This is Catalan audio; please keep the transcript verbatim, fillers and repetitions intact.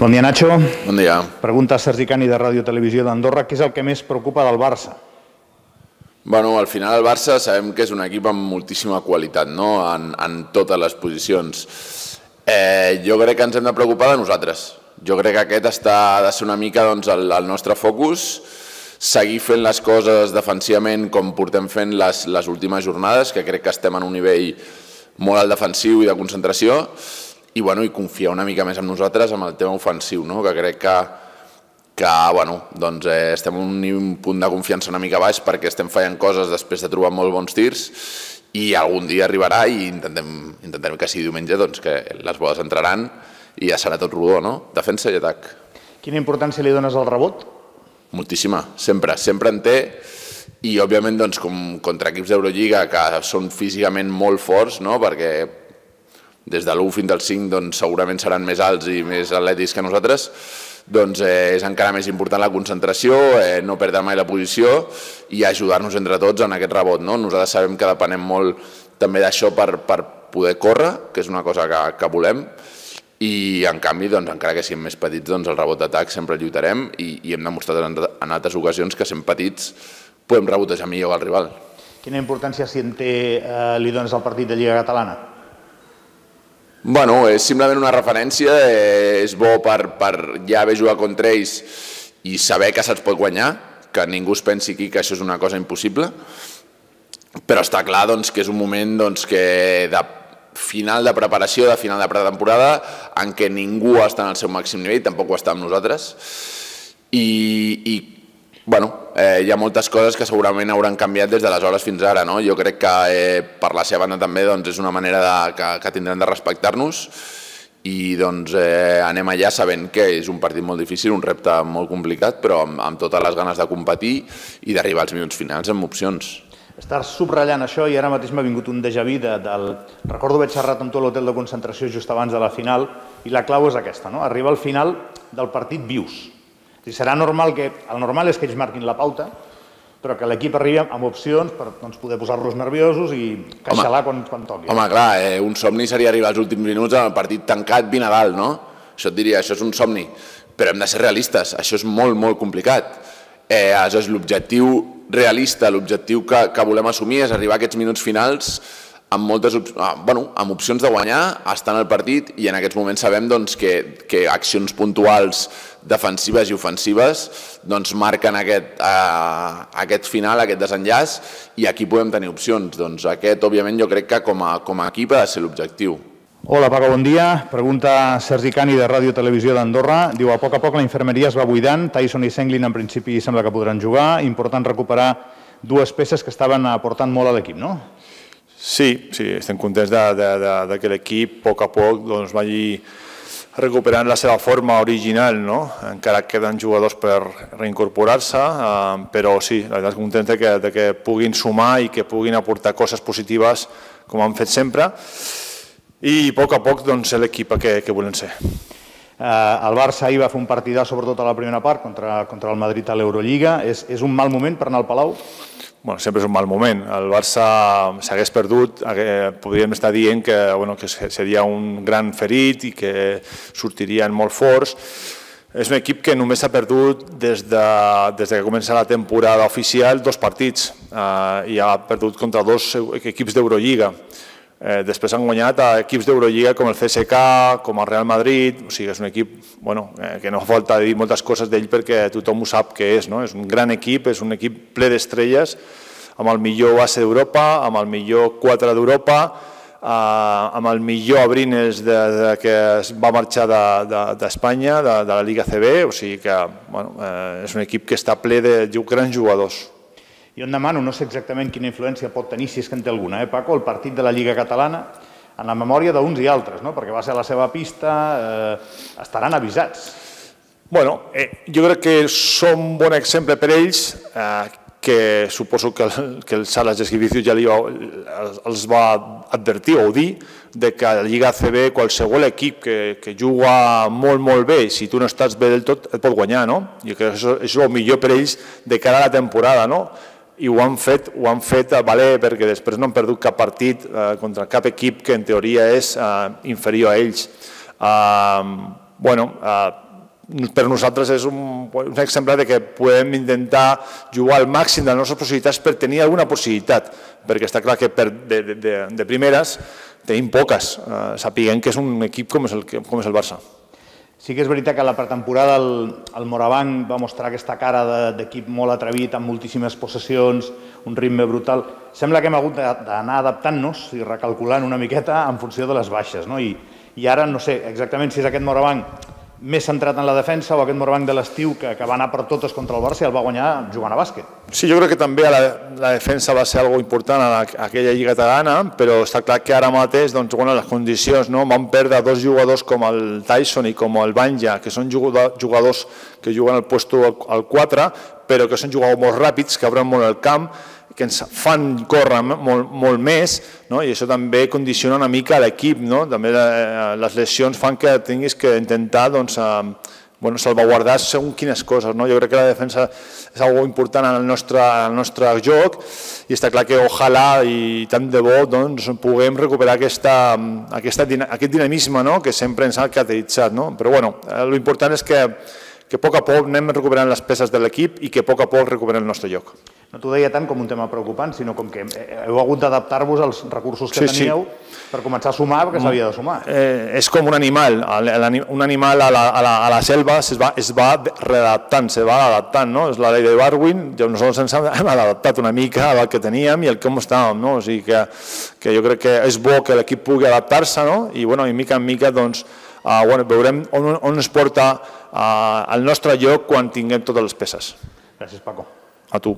Bon dia, Nacho. Bon dia. Pregunta a Sergi Cani de Ràdio Televisió d'Andorra. Què és el que més preocupa del Barça? Bueno, al final el Barça sabem que és un equip amb moltíssima qualitat, no?, en, en totes les posicions. Eh, jo crec que ens hem de preocupar de nosaltres. Jo crec que aquest està, ha de ser una mica doncs, el, el nostre focus, seguir fent les coses defensivament com portem fent les, les últimes jornades, que crec que estem en un nivell molt alt defensiu i de concentració, i, bueno, i confiar una mica més en nosaltres amb el tema ofensiu, no?, que crec que que bueno, doncs, eh, estem en un punt de confiança una mica baix perquè estem fallant coses després de trobar molt bons tirs i algun dia arribarà i intentem, intentem que sigui diumenge doncs, que les boles entraran i ja serà tot rodó, no? Defensa i atac. Quina importància li dones al rebot? Moltíssima, sempre, sempre en té i òbviament doncs, com contra equips d'Eurolliga que són físicament molt forts, no? Perquè des de l'u fins al cinc doncs, segurament seran més alts i més atlètics que nosaltres, doncs eh, és encara més important la concentració, eh, no perdre mai la posició i ajudar-nos entre tots en aquest rebot, no? Nosaltres sabem que depenem molt també d'això per, per poder córrer, que és una cosa que, que volem, i en canvi, doncs, encara que siguem més petits, doncs, el rebot d'atac sempre lluitarem i, i hem demostrat en, en altres ocasions que sent petits podem rebotejar millor al rival. Quina importància si en té, eh, li dones al partit de Lliga Catalana? Bueno, és simplement una referència, eh, és bo per, per ja haver jugat contra ells i saber que se'ls pot guanyar, que ningú es pensi aquí que això és una cosa impossible, però està clar doncs, que és un moment doncs, que de final de preparació, de final de pretemporada, en què ningú està en el seu màxim nivell, tampoc ho està amb nosaltres, i, i bueno, eh, hi ha moltes coses que segurament hauran canviat des d'aleshores fins ara, no? Jo crec que eh, per la seva banda també doncs, és una manera de, que, que tindran de respectar-nos i doncs, eh, anem allà sabent que és un partit molt difícil, un repte molt complicat, però amb, amb totes les ganes de competir i d'arribar als minuts finals amb opcions. Estàs subratllant això i ara mateix m'ha vingut un déjà vu de, del... Recordo haver xerrat amb tu a l'hotel de concentració just abans de la final i la clau és aquesta, no? Arribar al final del partit vius. Serà normal que, el normal és que ells marquin la pauta, però que l'equip arribi amb opcions per doncs, poder posar-los nerviosos i queixalar quan, quan toqui. Home, clar, eh, un somni seria arribar als últims minuts amb el partit tancat vint a dalt, no? Això et diria, això és un somni, però hem de ser realistes, això és molt, molt complicat. Eh, aleshores, l'objectiu realista, l'objectiu que, que volem assumir és arribar a aquests minuts finals amb, moltes, bueno, amb opcions de guanyar, estar en el partit i en aquests moments sabem doncs, que, que accions puntuals defensives i ofensives doncs, marquen aquest, eh, aquest final, aquest desenllaç i aquí podem tenir opcions. Doncs aquest, òbviament, jo crec que com a, com a equip ha de ser l'objectiu. Hola, Paco, bon dia. Pregunta Sergi Cani de Ràdio Televisió d'Andorra. Diu, a poc a poc la infermeria es va buidant, Tyson i Senglin en principi sembla que podran jugar, important recuperar dues peces que estaven aportant molt a l'equip, no? Sí, sí, estem contents de, de, de, de que l'equip a poc a poc doncs, vagi recuperant la seva forma original, no? Encara queden jugadors per reincorporar-se, eh, però sí, la veritat és contents de que, de que puguin sumar i que puguin aportar coses positives com han fet sempre i a poc a poc doncs, l'equip que, que volen ser. Eh, el Barça ahir va fer un partidà sobretot a la primera part contra, contra el Madrid a l'Eurolliga. És, és un mal moment per anar al Palau? Bueno, sempre és un mal moment. El Barça s'hagués perdut, podríem estar dient que, bueno, que seria un gran ferit i que sortirien molt forts. És un equip que només ha perdut des de, des de que comença la temporada oficial dos partits eh, i ha perdut contra dos equips d'Eurolliga. Eh, després han guanyat a equips d'Eurolliga com el C S K, com el Real Madrid, o sigui, és un equip bueno, eh, que no fa falta dir moltes coses d'ell perquè tothom ho sap què és, no? És un gran equip, és un equip ple d'estrelles, amb el millor base d'Europa, amb el millor quatre d'Europa, eh, amb el millor Abrines de, de, que va marxar d'Espanya, de, de, de la Lliga C B, o sigui que bueno, eh, és un equip que està ple de grans jugadors. Jo em demano, no sé exactament quina influència pot tenir, si és que en té alguna, eh, Paco, el partit de la Lliga Catalana en la memòria d'uns i altres, no? Perquè va ser la seva pista, eh, estaran avisats. Bueno, eh, jo crec que són un bon exemple per ells, eh, que suposo que el, que el Salas Gesquivicius ja li va, els va advertir o dir de que a la Lliga A C B qualsevol equip que, que juga molt, molt bé, si tu no estàs bé del tot, et pot guanyar, no? Jo crec que això és el millor per ells de cara a la temporada, no? I ho han fet, ho han fet a valer perquè després no han perdut cap partit eh, contra cap equip que en teoria és eh, inferior a ells. Eh, bueno, eh, per nosaltres és un, un exemple de que podem intentar jugar al màxim de les nostres possibilitats per tenir alguna possibilitat, perquè està clar que per, de, de, de primeres tenim poques, eh, sapiguem que és un equip com és el, com és el Barça. Sí que és veritat que a la pretemporada el, el Morabanc va mostrar aquesta cara d'equip de, molt atrevit, amb moltíssimes possessions, un ritme brutal. Sembla que hem hagut d'anar adaptant-nos i recalculant una miqueta en funció de les baixes, no? I, i ara no sé exactament si és aquest Morabanc més centrat en la defensa o aquest Morabanc de l'estiu que, que va anar per totes contra el Barça i el va guanyar jugant a bàsquet. Sí, jo crec que també la, la defensa va ser algo important a, la, a aquella lliga catalana, però està clar que ara mateix doncs, bueno, les condicions, no? Van perdre dos jugadors com el Tyson i com el Banja, que són jugadors que juguen al puesto al quatre, però que són jugadors molt ràpids, que obren molt el camp, que ens fan córrer molt, molt més, no? I això també condiciona una mica l'equip, no? També les lesions fan que tinguis que intentar doncs, eh, bueno, salvaguardar segons quines coses, no? Jo crec que la defensa és algo important en el nostre, en el nostre joc i està clar que ojalà i tant de bo doncs, puguem recuperar aquesta, aquesta, aquest dinamisme, no? Que sempre ens ha caracteritzat, no? Però bueno, l'important és que que a poc a poc anem recuperant les peces de l'equip i que a poc a poc recuperem el nostre lloc. No t'ho deia tant com un tema preocupant, sinó com que heu hagut d'adaptar-vos als recursos que sí, teníeu sí. per començar a sumar, perquè s'havia de sumar. Eh, és com un animal. Un animal a la, a la, a la selva es va, es va readaptant, se va adaptant, no? És la llei de Darwin, nosaltres ens hem adaptat una mica al que teníem i al com estàvem, no? O sigui que, que jo crec que és bo que l'equip pugui adaptar-se, no? I bueno, i mica en mica doncs, uh, bueno, veurem on, on es porta uh, el nostre lloc quan tinguem totes les peces. Gràcies, Paco. A tu.